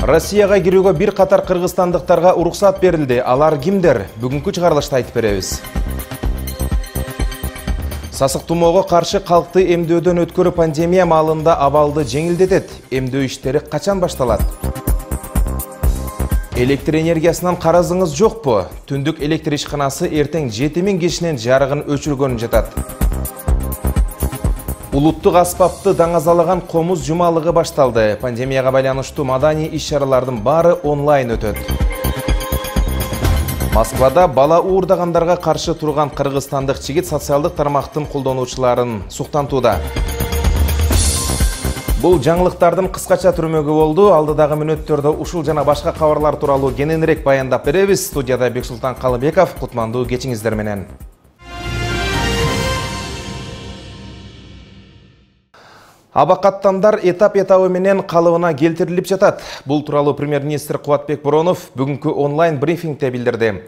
Россияга кирүүгө бир катар кыргызстандыктарга уруксат берилди. Алар кимдер? Бүгүнкү чыгарылышта айтып беребиз. Сасык тумоого каршы калкты эмдөөдөн өткөрүү пандемия маалында абалды жеңилдетет. Эмдөө иштери качан башталат? Электр энергиясынан карызыңыз жокпу? Түндүк электр ишканасы эртең 7000 кишинин жарыгын өчүргөнүн жатат. Улуттук аспапты даңазалаган комуз жумалыгы башталды. Пандемияга байланыштуу маданий иш-чаралардын баары онлайн өтөт. Москвада бала уурдагандарга каршы турган кыргызстандык жигит социалдык тармактын колдонуучуларын суктантууда. Бул жаңылыктардын кыскача түрмөгү болду. Алдыдагы мүнөттөрдө ушул жана башка кабарлар тууралуу кененирээк баяндап беребиз. Студияда Бексултан Калыбеков, кутмандуу кечиңиздер менен. Абакаттандар этап-этабы менен калыбына келтирилип жатат. Бул тууралуу премьер-министр Кубатбек Боронов бүгүнкү онлайн брифингде билдирди.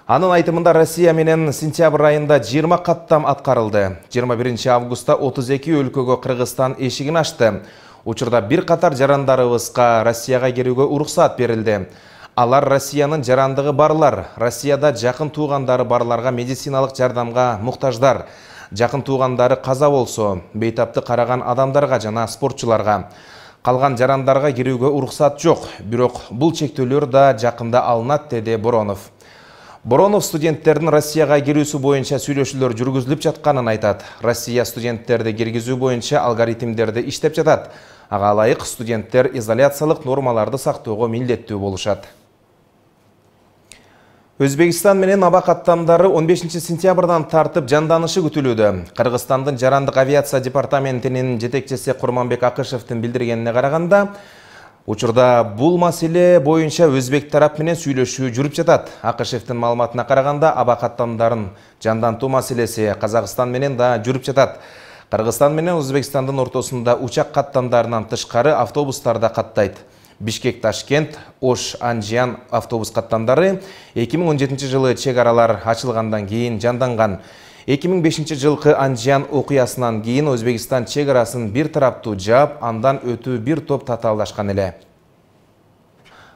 Анын айтымында Россия менен сентябрь айында 20 каттам аткарылды. 21 августта 32 өлкөгө Кыргызстан эшигин ачты. Учурда бир катар жарандарыбызга Россияга кирүүгө уруксат берилди. Алар Россиянын жарандыгы барлар, Россияда жакын туугандары барларга медициналык жардамга муктаждар. Жакын туугандары каза болсо, бейтапты караган адамдарга жана спортчуларга. Калган жарандарга кирүүгө уруксат жок, бирок бул чектөөлөр да жакында алынат, деди Боронов. Боронов студенттердин Россияга кирүүсү боюнча сүйлөшүүлөр жүргүзүлүп жатканын айтат. Россия студенттерди киргизүү боюнча алгоритмдерди иштеп жатат. Ага ылайык студенттер изоляциялык нормаларды сактоого милдеттүү болушат. Өзбекстан менен аба каттамдары 15 сентябрдан тартып жанданышы күтүлүүдө. Кыргызстандын жарандык авиация департаментинин жетекчиси Курманбек Акышевдин билдиргенине караганда, учурда бул маселе боюнча өзбек тарап менен сүйлөшүү жүрүп жатат. Акышевдин маалыматына караганда, аба каттамдарын жандантуу маселеси Казакстан менен да жүрүп жатат. Кыргызстан менен Өзбекстандын ортосунда учак каттамдарынан тышкары автобустар да каттайт. Бишкек-Ташкент, Ош-Анжиян автобус каттамдары 2017 жылы чек аралар ачылгандан кийин жанданган. 2005 жылкы Анжиян окуясынан кийин Өзбекстан чек арасын бир тараптуу жаап, андан өтүү бир топ татаалдашкан эле.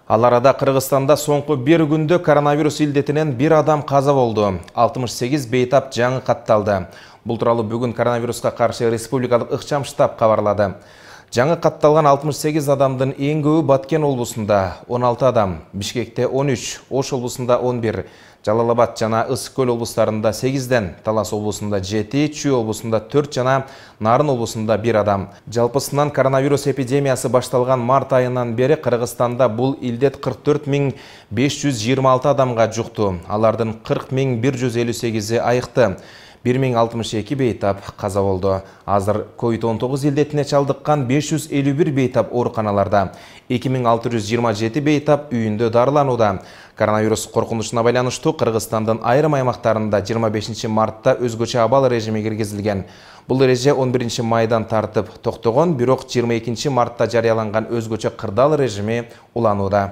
Ал арада Кыргызстанда соңку бир күндө коронавирус илдетинен бир адам каза болду. 68 бейтап жаңы катталды. Бул тууралуу бүгүн коронавируска каршы республикалык ыкчам штаб кабарлады. Жаңы катталган 68 адамдын эң көбү Баткен облусунда 16 адам, Бишкекте 13, Ош облусунда 11, Жалал-Абад жана Ысык-Көл облустарында 8ден, Талас облусунда 7, Чүй облусунда 4 жана Нарын облусунда 1 адам. Жалпысынан коронавирус эпидемиясы башталган март айынан бери Кыргызстанда бул илдет 44 526 адамга жукту. Алардын 40 158-и айыкты. 1062 бейтап каза болду. Азыр COVID-19 илдетине чалдыккан 551 бейтап ооруканаларда, 2627 бейтап үйүндө дарыланууда. Коронавирус коркунучуна байланыштуу Кыргызстандын айрым аймактарында 25 мартта өзгөчө абал режими киргизилген. Бул эреже 11 майдан тартып токтогон, бирок 22 мартта жарыяланган өзгөчө кырдаал режими уланууда.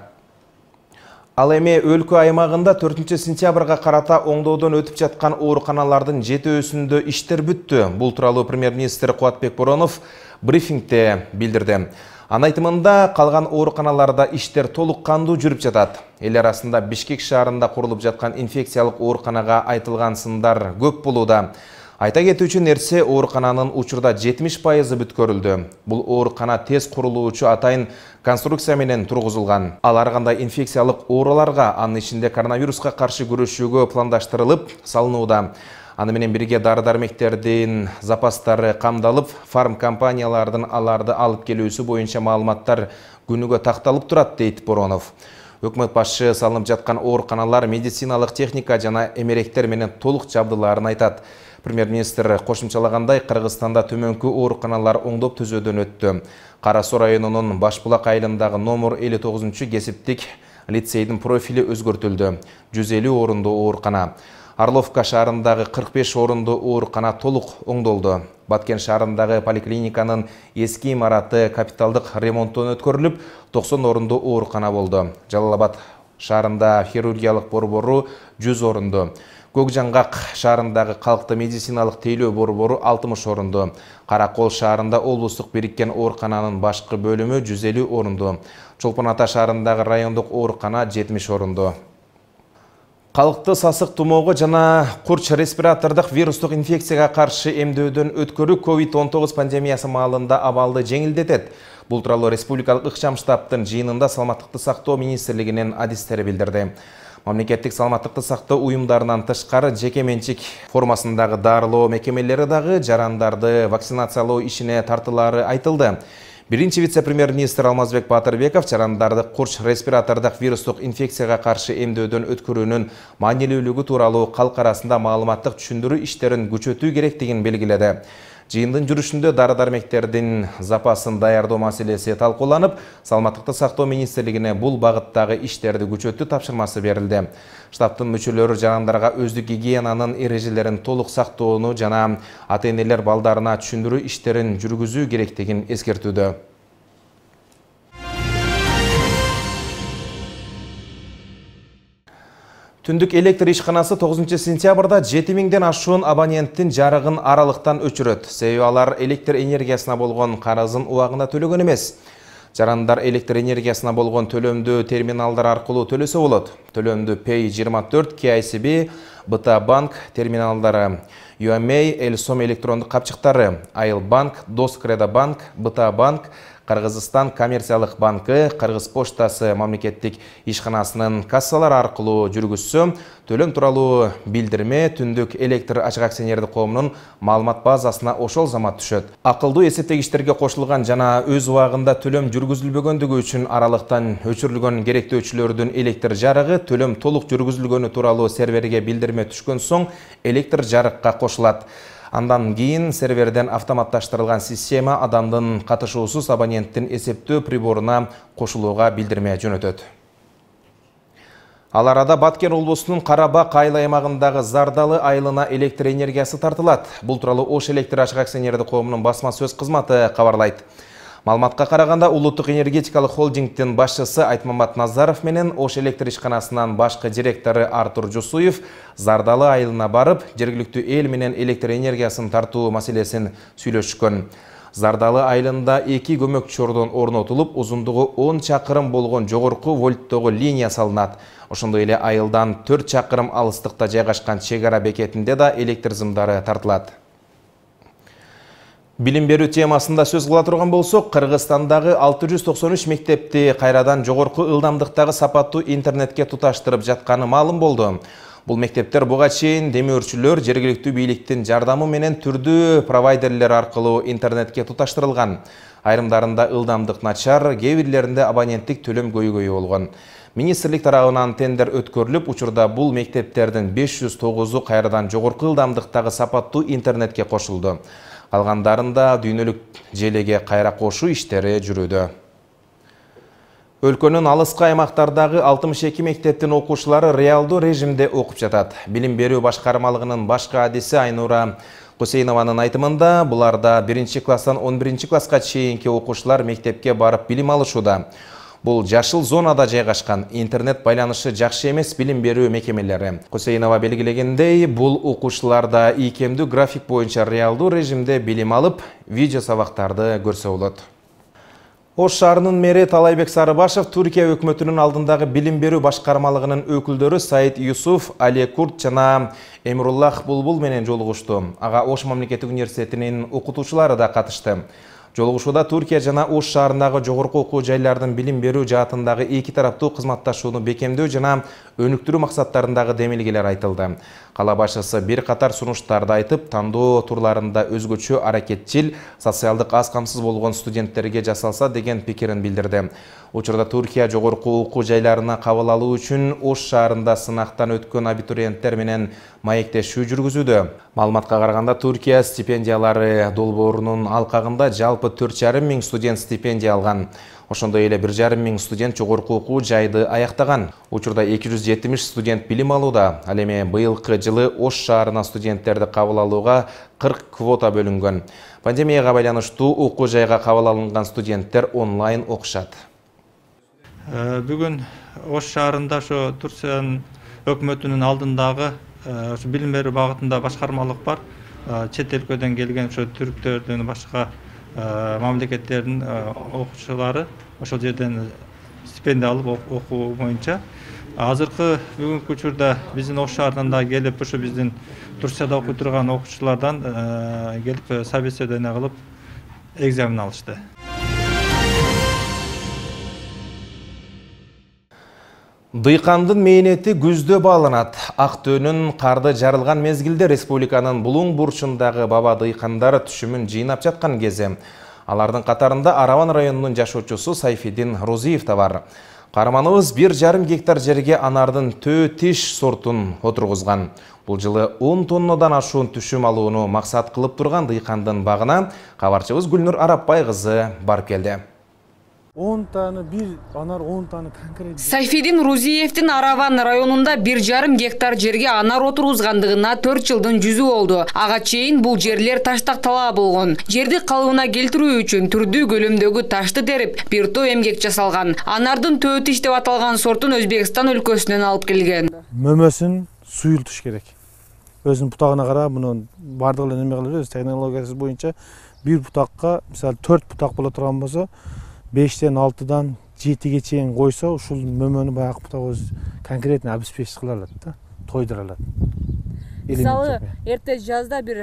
Ал эми өлкө аймагында 4 сентябрга карата оңдоодон өтүп жаткан ооруканалардын 7-өсүндө иштер бүттү. Бул тууралуу премьер-министр Кубатбек Боронов брифингде билдирди. Анын айтымында, калган ооруканаларда иштер толук кандуу жүрүп жатат. Эл арасында Бишкек шаарында курулуп жаткан инфекциялык ооруканага айтылган сындар көп болууда. Айта кетүүчү нерсе, оорукананын учурда 70% бүткөрүлдү. Бул оорукана тез курулуучу атайын конструкция менен тургузулган. Ал ар кандай инфекциялык ооруларга, анын ичинде коронавируска каршы күрөшүүгө пландаштырылып салынууда. Аны менен бирге дары-дармектердин запастары камдалып, фарм компаниялардын аларды алып келүүсү боюнча маалыматтар күнүгө такталып турат, дейт Боронов. Өкмөт башчы салынып жаткан ооруканалар медициналык техника жана эмеректер менен толук жабдылаарын айтат. Премьер-министр кошумчалагандай, Кыргызстанда төмөнкү ооруканалар оңдоп түзөөдөн өттү. Кара Суу районунун Башбулак айылындагы номер 59-кесиптик лицейдин профили өзгөртүлдү. 150 орундуу оорукана. Орловка шаарындагы 45 орундуу оорукана толук оңдолду. Баткен шаарындагы поликлиниканын эски имараты капиталдык ремонттон өткөрүлүп, 90 орундуу оорукана болду. Жалал-Абад шаарында хирургиялык борбору 100 орунду. Көкжаңгак шаарындагы калкты медициналык тейлөө борбору 60 орунду. Каракол шаарында облустук бириккен оорукананын башкы бөлүмү 150 орунду. Чолпон Ата шаарындагы райондук оорукана 70 орунду. Калкты сасык тумоого жана курч респиратордук вирустук инфекцияга каршы эмдөөдөн өткөрүү COVID-19 пандемиясы маалында абалды жеңилдетет. Бул тууралуу республикалык ыкчам штабтын жыйынында Саламаттыкты сактоо министрлигинин адистери билдирди. Мамлекеттик саламаттыкты сактоо уюмдарынан тышкары жеке менчик формасындагы дарылоо мекемелери дагы жарандарды вакцинациялоо ишине тартылары айтылды. Биринчи вице-премьер-министр Алмазбек Батырбеков жарандарды курч респиратордук вирустук инфекцияга каршы эмдөөдөн өткөрүүнүн маанилүүлүгү тууралуу калк арасында маалыматтык түшүндүрүү иштерин күчөтүү керектигин белгиледи. Жыйындын жүрүшүндө дары-дармектердин запасын даярдоо маселеси талкууланып, Саламаттыкты сактоо министрлигине бул багыттагы иштерди күчөтүү тапшырмасы берилди. Штабтын мүчөлөрү жарандарга өздүк гигиенанын эрежелерин толук сактоону жана ата-энелер балдарына түшүндүрүү иштерин жүргүзүү керектигин эскертүүдө. Түндүк электр ишканасы 9 сентябрда 7000ден ашуун абоненттин жарыгын аралыктан өчүрөт. Себеби алар электр энергиясына болгон карызын убагында төлөгөн эмес. Жарандар электр энергиясына болгон төлөмдү терминалдар аркылуу төлөсө болот. Төлөмдү Pay24, KCB, БТА банк терминалдары, UMA, Элсом электрондук капчыктары, Айыл банк, Доскредо банк, БТА банк, Кыргызстан коммерциялык банкы, Кыргыз поштасы мамлекеттик ишканасынын кассалары аркылуу жүргүзсө, төлөм тууралуу билдирме Түндүк электр ачык акционердик коомунун маалымат базасына ошол замат түшөт. Акылдуу эсептегичтерге кошулган жана өз убагында төлөм жүргүзүлбөгөндүгү үчүн аралыктан өчүрүлгөн керектөөчүлөрдүн электр жарыгы төлөм толук жүргүзүлгөнү тууралуу серверге билдирме түшкөн соң электр жарыкка кошулат. Андан кийин серверден автоматташтырылган система адамдын катышуусуз абоненттин эсептөө приборуна кошулууга билдирме жөнөтөт. Ал арада Баткен облусунун Карабак айыл аймагындагы Зардалы айылына электр энергиясы тартылат. Бул тууралуу Ош электр ачык акционердик коомунун басма сөз кызматы кабарлайт. Маалыматка караганда улуттук энергетикалык холдингдин башчысы Айтмамат Назаров менен Ош электр ишканасынын башкы директору Артур Жусуев Зардалы айылына барып, жергиликтүү эл менен электр энергиясын тартуу маселесин сүйлөшкөн. Зардалы айылында 2 көмөкчү ордон орнотулуп, узундугу 10 чакырым болгон жогорку вольттогу линия салынат. Ошондой эле айылдан 4 чакырым алыстыкта жайгашкан чек ара бекетинде да электр зымдары тартылат. Билим берүү темасында сөз кыла турган болсок, Кыргызстандагы 693 мектепти кайрадан жогорку ылдамдыктагы сапаттуу интернетке туташтырып жатканы маалым болду. Бул мектептер буга чейин демөөрчүлөр жергиликтүү бийликтин жардамы менен түрдүү провайдерлер аркылуу интернетке туташтырылган. Айрымдарында ылдамдык начар, кээ бирлеринде абоненттик төлөм көйгөйү болгон. Министрлик тарабынан тендер өткөрүлүп, учурда бул мектептердин 509-у кайрадан жогорку ылдамдыктагы сапаттуу интернетке кошулду. Калгандарында дүйнөлүк желеге кайра кошуу иштери жүрүүдө. Өлкөнүн алыскы аймактардагы 62 мектептин окуучулары реалдуу режимде окуп жатат. Билим берүү башкармалыгынын башкы адиси Айнура Кусейнованын айтымында, буларда 1 класстан 11 класска чейинки окуучулар мектепке барып билим алышууда. Бул жашыл зонада жайгашкан, интернет байланышы жакшы эмес билим берүү мекемелери. Кусейнова белгилегендей, бул окуучуларда ийкемдүү график боюнча реалдуу режимде билим алып, видео сабактарды көрсө болот. Ош шаарынын мэри Талайбек Сарыбашев Түркия өкмөтүнүн алдындагы билим берүү башкармалыгынын өкүлдөрү Саид Юсуф, Али Курт жана Эмруллах Булбул менен жолугушту. Ага Ош мамлекеттик университетинин окутуучулары да катышты. Жолугушууда Түркия жана Ош шаарындагы жогорку окуу жайлардын билим берүү жаатындагы эки тараптуу кызматташууну бекемдөө жана өнүктүрүү максаттарындагы демилгелер айтылды. Кала башчысы бир катар сунуштарды айтып, тандоо турларында өзгөчө аракетчил, социалдык аз камсыз болгон студенттерге жасалса деген пикирин билдирди. Учурда Түркия жогорку окуу жайларына кабыл алуу үчүн Ош шаарында сынактан өткөн абитуриенттер менен маектешүү жүргүзүүдө. Маалыматка караганда Түркия стипендиялары долбоорунун алкагында жалпы 4,5 миң студент стипендия алган. Ошондой эле 1,5 миң студент жогорку окуу жайды аяктаган. Учурда 270 студент билим алууда. Ал эми быйылкы жылы Ош шаарына студенттерди кабыл алууга 40 квота бөлүнгөн. Пандемияга байланыштуу окуу жайга кабыл алынган студенттер онлайн окушат. Бүгүн Ош шаарында ошо Турциянын өкмөтүнүн алдындагы Ошо билим берүү багытында башкармалык бар. Чет өлкөдөн келген ошо түрктөрдүн башка мамлекеттердин окуучулары ошол жерден стипендия алып окуу боюнча азыркы бүгүнкү учурда биздин Ош шаарынан да келип ошо биздин Турцияда окуй турган окуучулардан келип собеседование кылып экзамен алышты. Дыйкандын мээнети күздө бааланат. Актөөнүн карды жарылган мезгилде республиканын булуң бурчундагы баба дыйкандар түшүмүн жыйнап жаткан кези. Алардын катарында Араван районунун жашоочусу Сайфидин Розиев да бар. Каарманыбыз 1,5 гектар жерге анардын төө-тиш сортун отургузган. Бул жылы 10 тоннадан ашуун түшүм алууну максат кылып турган дыйкандын багына кабарчыбыз Гүлнур Арапбай кызы барып келди. 10 таны бир анар 10 таны конкрет. Сайфидин Рузиевдин Араван районунда 1,5 гектар жерге анар отургузгандыгына 4 жылдын жүзү болду. Ага чейин бул жерлер таштактала болгон. Жерди калыбына келтирүү үчүн түрдүү көлөмдөгү ташты терип, бир топ эмгек жасалган. Анардын төө-тиш деп аталган сортун Өзбекстан өлкөсүнөн алып келген. Мөмөсүн суюлтуш керек. Өзүнүн бутагына карап, муну бардыгы эле неме кылып, технологиясы боюнча бир бутакка, мисалы 4 бутак боло турган болсо, 5-тен 6-дан 7-ге чейин койсо, ушул мөмөнү баягы бутак өз конкретно обеспечить кыла алат да, тойдура алат. Мисалы, эрте жазда бир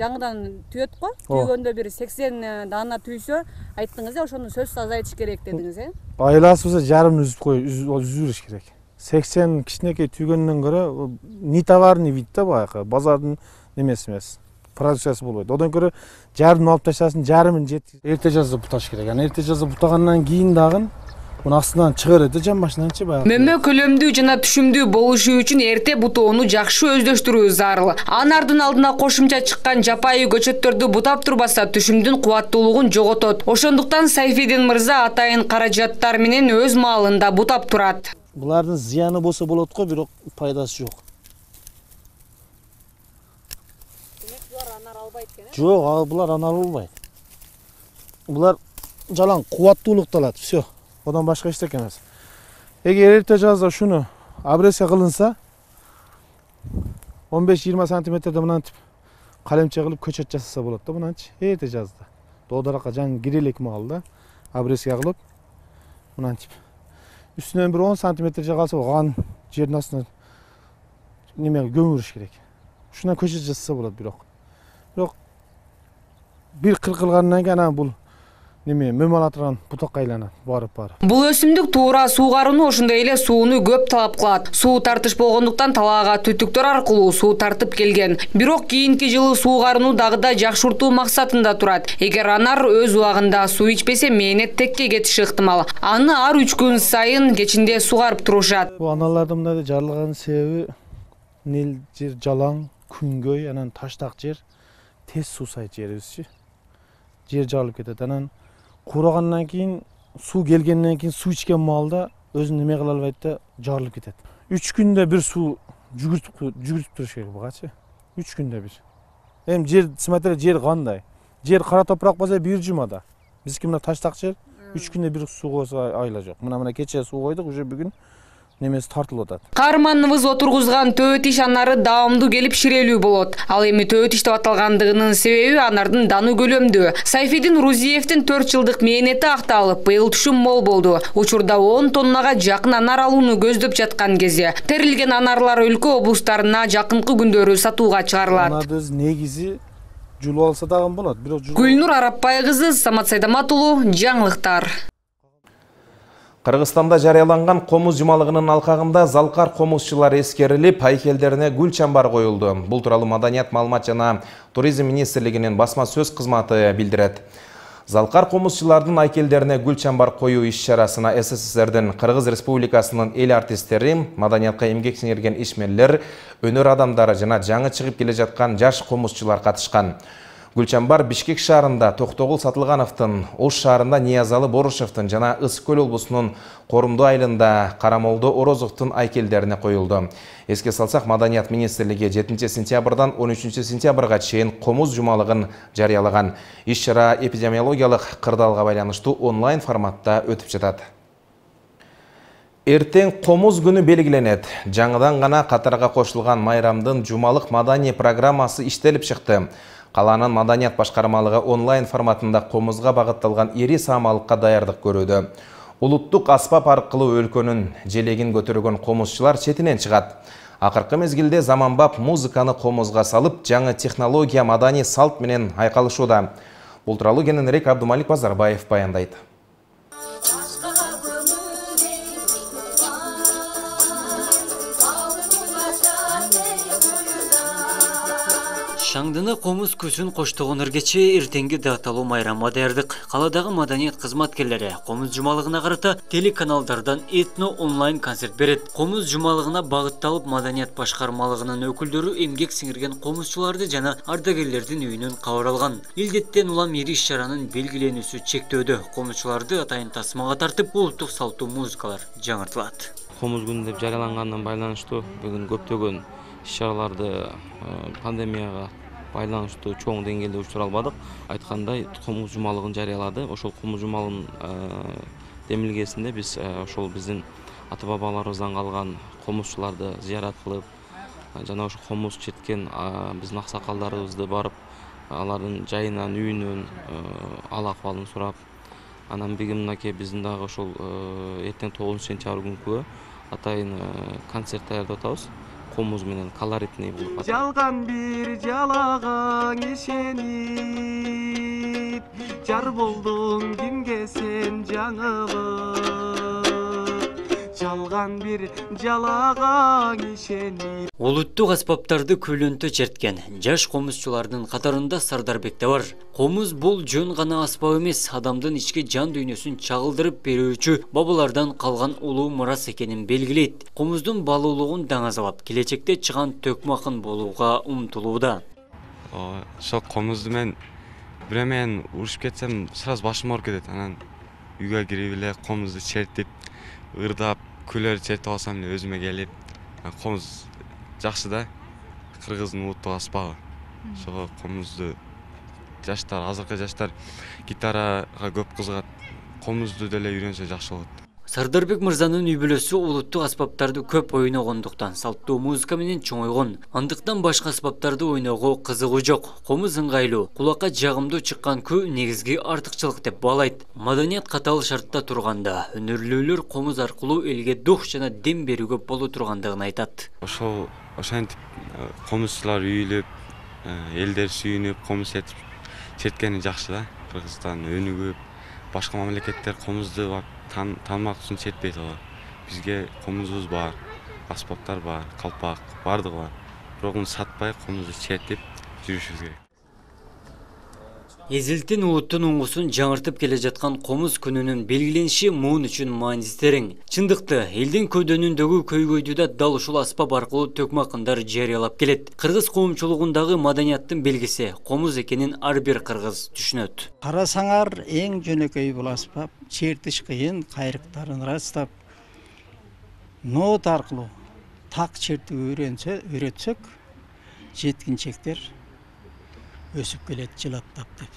жаңыдан түйөт го, түйгөндө бир 80 даана түйсө, айттыңыз ошону сөзсүз азайтыш керек дедиңиз, Айласы жарымын үзүш керек. 80 кичинекей түйгөндөн көрө ни товарный вид да баягы, базардын немеси эмес. Продукциясы болбойт. Одан көрө жарымын алып таштасын, жарымын эрте жазда буташ керек. Аны эрте жазда бутагандан кийин дагы муну астынан чыгарат да жан машинанчы баягы. Мөмө көлөмдүү жана түшүмдүү болушу үчүн эрте бутоону жакшы өздөштүрүү зарыл. Анардын алдына кошумча чыккан жапайы көчөттөрдү бутап турбаса түшүмдүн кубаттуулугун жоготот. Ошондуктан Сайфидин мырза атайын каражаттар менен өз маалында бутап турат. Булардын зыяны болсо болот го, бирок пайдасы жок. Жок, булар анар албайт. Булар жалаң кубаттуулукту алат, всё. Одан башка эчтеке эмес. Эгер эрте жазда шуну обрезка кылынса, 15-20 сантиметрде мынантип калемче кылып көчөт жасаса болот да, мынанчы. Эрте жазда. Доодаракка жаңы кирелик маалда обрезка кылып мынантип. Үстүнөн бир 10 сантиметр же калса, ан жердин астына неме көмүрүш керек. Ушунан көчөт жасаса болот бирок. Бир кыркылгандан кийин бул неме мөмө ала турган бутакка айланат барып. Бул өсүмдүк туура суугарууну, ошондой эле сууну көп талап кылат. Суу тартыш болгондуктан талаага түтүктөр аркылуу суу тартып келген. Бирок кийинки жылы суугарууну дагы да жакшыртуу максатында турат. Эгер анар өз убагында суу ичпесе, мээнет текке кетиши ыктымал. Аны ар 3 күн сайын кечинде сугарып турушат. Бул аналардын мындай жарылганын себеби нел жер жалаң, күнгөй, анан таштак жер, тез суусайт жерибизчи. Жер жарылып кетет. Анан куурагандан кийин, суу келгенден кийин суу ичкен маалда өзүн неме кыла албайт да, жарылып кетет. 3 күндө бир суу жүгүртүп туруш керек бугачы. 3 күндө бир. Эми жер, смотри, жер кандай? Жер кара топурак болсо бир жумада. Биздики мына таштак жер 3 күндө бир суу койсо айла жок. Мына кече суу койдук, уже бүгүн немеси тартылып атат. Каарманыбыз отургузган төө-тиш анары даамдуу келип ширелүү болот. Ал эми төө-тиш деп аталгандыгынын себеби анардын даны көлөмдүү. Сайфидин Рузиевдин 4 жылдык мээнети акталып, быйыл түшүм мол болду. Учурда 10 тоннага жакын анар алууну көздөп жаткан кезде. Терилген анарлар өлкө облустарына жакынкы күндөрү сатууга чыгарылат. Анардын негизи жулуп алса дагы болот. Гүлнур Арапбай кызы, Самат Сайдамат уулу, жаңылыктар. Кыргызстанда жарыяланган комуз жумалыгынын алкагында залкар комузчулар эскерилип, айкелдерине гүл чамбар коюлду. Бул тууралуу Маданият, маалымат жана туризм министрлигинин басма сөз кызматы билдирет. Залкар комузчулардын айкелдерине гүл чамбар коюу иш-чарасына СССРдин Кыргыз Республикасынын эл артисттери, маданиятка эмгек сиңирген ишмерлер, өнөр адамдары жана жаңы чыгып келе жаткан жаш комузчулар катышкан. Гүлчамбар Бишкек шаарында Токтогул Сатылгановдун, Ош шаарында Ниязалы Борушевдун жана Ысык көл облусунун Корумду айылында Карамолдо Орозовдун айкелдерине коюлду. Эске салсак, Маданият министрлиги 7 сентябрдан 13 сентябрга чейин комуз жумалыгын жарыялаган. Иш-чара эпидемиологиялык кырдаалга байланыштуу онлайн форматта өтүп жатат. Эртең комуз күнү белгиленет. Жаңыдан гана катарга кошулган майрамдын жумалык маданий программасы иштелип чыкты. Калаанын маданият башкармалыгы онлайн форматында комузга багытталган ири саамалыкка даярдык көрүүдө. Улуттук аспап аркылуу өлкөнүн желегин көтөргөн комузчулар четинен чыгат. Акыркы мезгилде заманбап музыканы комузга салып, жаңы технология маданий салт менен айкалышууда. Бул тууралуу кененирээк Абдумалик Базарбаев баяндайт. Шаңдыны комуз көсүн коштогон эргече эртеңги даталуу майрамга даярдык. Каладагы маданият кызматкерлери комуз жумалыгына карата телеканалдардан этно онлайн концерт берет. Комуз жумалыгына багытталып маданият башкармалыгынын өкүлдөрү эмгек сиңирген комузчуларды жана ардагерлердин үйүнөн кабар алган. Илдеттен улам ири иш-чаранын белгиленүүсү чектөөдө. Комузчуларды атайын тасмага тартып, улуттук салттуу музыкалар жаңыртылат. Комуз күнү деп жарыялангандан байланыштуу бүгүн көптөгөн иш-чараларды пандемияга байланыштуу чоң деңгээлде учура албадык. Айткандай, комуз жумалыгын жарыялады. Ошол комуз жумалынын демилгесинде биз ошол биздин ата бабаларыбыздан калган комузчуларды зыярат кылып, жана ошо комуз четкен биздин аксакалдарыбызды барып, алардын жайынан, үйүнөн ал акыбалын сурап, анан мынакей биздин дагы ошол эртең 9-сентябрь күнкү атайын концерт даярдап атабыз. Комуз менен колоритный болуп атат. Жалган бир жалагаң ишенип, жар болдуң кимге сен жаңылып. Жалган бир жалагаң ишенип. Улуттук аспаптарды көйлөнтө черткен жаш комузчулардын катарында Сардарбек да бар. Комуз бул жөн гана аспап эмес, адамдын ички жан дүйнөсүн чагылдырып берүүчү бабалардан калган улуу мурас экенин белгилейт. Комуздун балуулугун даңазалап, келечекте чыган төкмакын болууга умтулууда. Ошо комузду мен биремен урушуп кетсем, сразу башым ооруп кетет. Анан үйгө кирип эле комузду чертип, ырдап, күлөр чертип алсам эле өзүмө келип, комуз жакшы да, кыргыздын улуттук аспабы. Ошого комузду жаштар, азыркы жаштар гитарага көп кызыгат. Комузду деле үйрөнсө жакшы болот. Сардарбек мырзанын үй бүлөсү улуттук аспаптарды көп ойногондуктан салттуу музыка менен чоңойгон. Андыктан башка аспаптарды ойноого кызыгуу жок. Комуз ыңгайлуу, кулакка жагымдуу чыккан күү негизги артыкчылык деп баалайт. Маданият катаал шартта турганда, өнөрлүүлөр комуз аркылуу элге дух жана дем берүүгө боло тургандыгын айтат. Ошентип комузчулар үйүлүп, элдер сүйүнүп, комуз черткени жакшы да. Кыргызстан өнүгүп, башка мамлекеттер комузду таанымак үчүн чертпейт алар. Бизге комузубуз бар, аспаптар бар, калпак бардыгы бар. Бирок муну сатпай комузду чертип жүрүшүбүз керек. Эзилтин улуттун уңгусун жаңыртып келе жаткан комуз күнүнүн белгилениши муун үчүн маанисиз терең. Чындыкты, элдин көдөнүндөгү көйгөйдү да дал ушул аспап аркылуу төкмакындар жарыялап келет. Кыргыз коомчулугундагы маданияттын белгиси комуз экенин ар бир кыргыз түшүнөт. Карасаңар эң жөнөкөй бул аспап, чертиш кыйын, кайрыктарын ырастап, нот аркылуу так чертип үйрөтсөк, жеткинчектер өсүп келет жылаттап деп.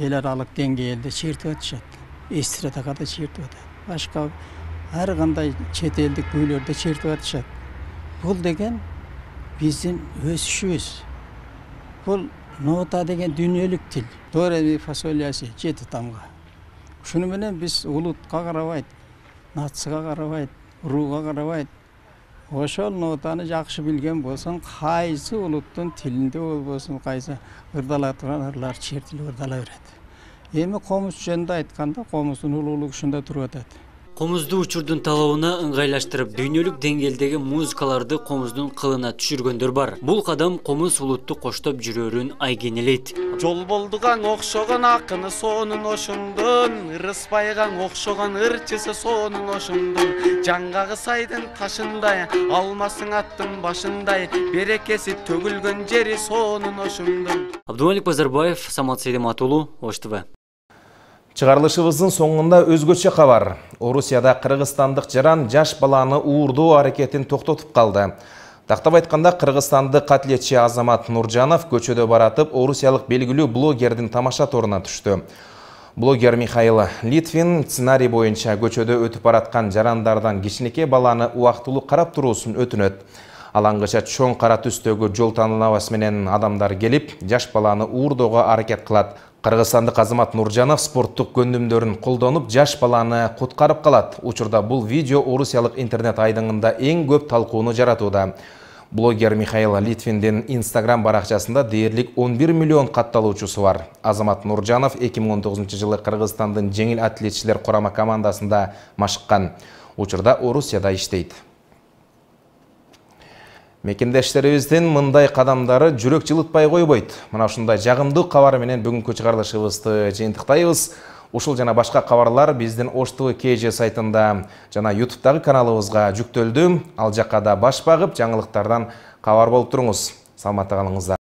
Эл аралык деңгээлде чертип атышат. Эстрадага чертип атат. Башка ар кандай чет элдик күүлөрдө чертип атышат. Бул деген биздин өсүшүбүз. Бул нота деген дүйнөлүк тил. До ре ми фа соль ля си 7 тамга. Ушуну менен биз улутка карабайт, нацияга карабайт, рууга карабайт. Ошол нотаны жакшы билген болсоң, кайсы улуттун тилинде болбосун, кайсы ырдала турган ырлар чертилип ырдала берет. Эми комуз жөнүндө айтканда, комуздун улуулугу ушунда туруп атат. Комузду учурдун талабына ыңгайлаштырып, дүйнөлүк деңгээлдеги музыкаларды комуздун кылына түшүргөндөр бар. Бул кадам комуз улутту коштоп жүрөрүн айгенелейт. Жол болдугаң окшогон акыны сонун ошундун, ырыспайгаң окшогон ырчысы сонун ошундун. Жаңгагы сайдын ташындай, алмасың аттын башындай, берекеси төгүлгөн жери сонун ошундун. Абдумалик Базарбаев, Самат Сейдематулу, Ош ТВ. Чыгарылышыбыздын соңунда өзгөчө кабар. Орусияда кыргызстандык жаран жаш баланы уурдоо аракетин токтотуп калды. Тактап айтканда, кыргызстандык катлетчи Азамат Нуржанов көчөдө баратып, орусиялык белгилүү блогердин тамаша торуна түштү. Блогер Михаил Литвин сценарий боюнча көчөдө өтүп бараткан жарандардан кичинекей баланы убактылуу карап туруусун өтүнөт. Алаңгыча чоң кара түстөгү жол танылабасы менен адамдар келип, жаш баланы уурдоого аракет кылат. Кыргызстандык Азамат Нуржанов спорттук көндүмдөрүн колдонуп, жаш баланы куткарып калат. Учурда бул видео орусиялык интернет айдыңында эң көп талкууну жаратууда. Блогер Михаил Литвиндин Instagram баракчасында дээрлик 11 миллион катталуучусу бар. Азамат Нуржанов 2019 жылы Кыргызстандын жеңил атлетчилер курама командасында машыккан. Учурда Орусияда иштейт. Мекендештерибиздин мындай кадамдары жүрөк жылытпай койбойт. Мына ушундай жагымдуу кабар менен бүгүнкү чыгарылышыбызды жыйынтыктайбыз. Ушул жана башка кабарлар биздин Ош ТВ КЖ сайтында жана YouTube'дагы каналыбызга жүктөлдү. Ал жакка да баш багып, жаңылыктардан кабар болуп туруңуз. Саламатта калыңыздар.